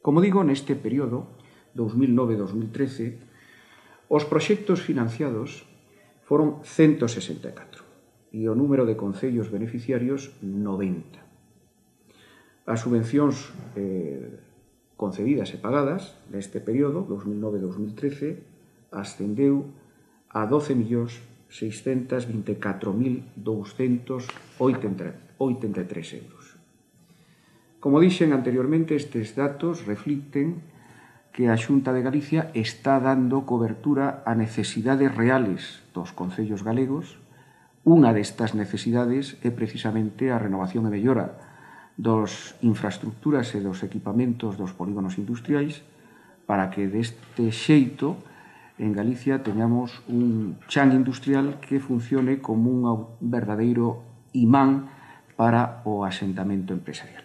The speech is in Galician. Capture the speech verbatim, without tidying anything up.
Como digo, neste período, dos mil nove a dos mil trece, os proxectos financiados foron ciento sesenta e catro e o número de concellos beneficiarios noventa. As subvencións eh, concedidas e pagadas neste período, dos mil nove a dos mil trece, ascendeu a doce millóns seiscentos vinte e catro mil douscentos oitenta e tres euros. Como dixen anteriormente, estes datos reflicten que a Xunta de Galicia está dando cobertura a necesidades reales dos concellos galegos. Unha destas necesidades é precisamente a renovación e mellora das infraestructuras e dos equipamentos dos polígonos industriais para que deste xeito en Galicia teñamos un chan industrial que funcione como un verdadeiro imán para o asentamento empresarial.